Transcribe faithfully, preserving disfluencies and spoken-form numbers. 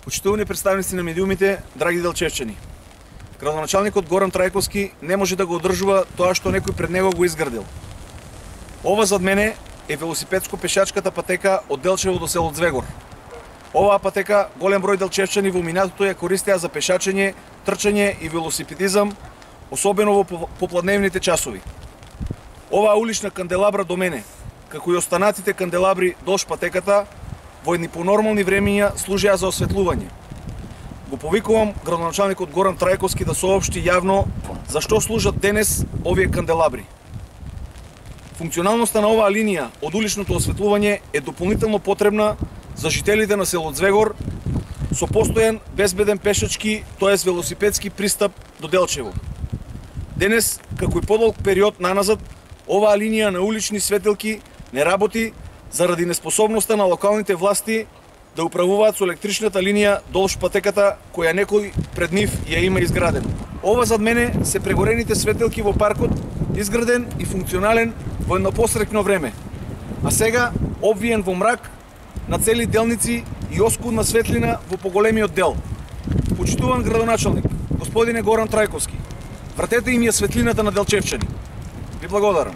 Почитувани представници на медиумите, драги делчевчани. Градоначалникот Горан Трајковски не може да го одржува тоа што некој пред него го изградил. Ова зад мене е велосипедско-пешачката патека од Делчево до село Звегор. Оваа патека голем број делчевчани во минатото ја користеа за пешачење, трчање и велосипедизам, особено во попладневните часови. Оваа улична канделабра до мене, како и останатите канделабри долж патеката, во едни понормални времења служеа за осветлување. Го повикувам градоначалникот Горан Трајковски да соопшти јавно зашто служат денес овие канделабри. Функционалноста на оваа линија од уличното осветлување е дополнително потребна за жителите на село Звегор со постојан безбеден пешачки, тоест велосипедски пристап до Делчево. Денес, како и подолг период наназад, оваа линија на улични светилки не работи заради неспособноста на локалните власти да управуваат со електричната линија долж патеката која некој пред нив ја има изградена. Ова зад мене се прегорените светилки во паркот, изграден и функционален во едно посрекно време. А сега обвиен во мрак на цели делници и оскудна светлина во поголемиот дел. Почитуван градоначалник, господине Горан Трајковски, вратете им ја светлината на делчевчани. Ви благодарам.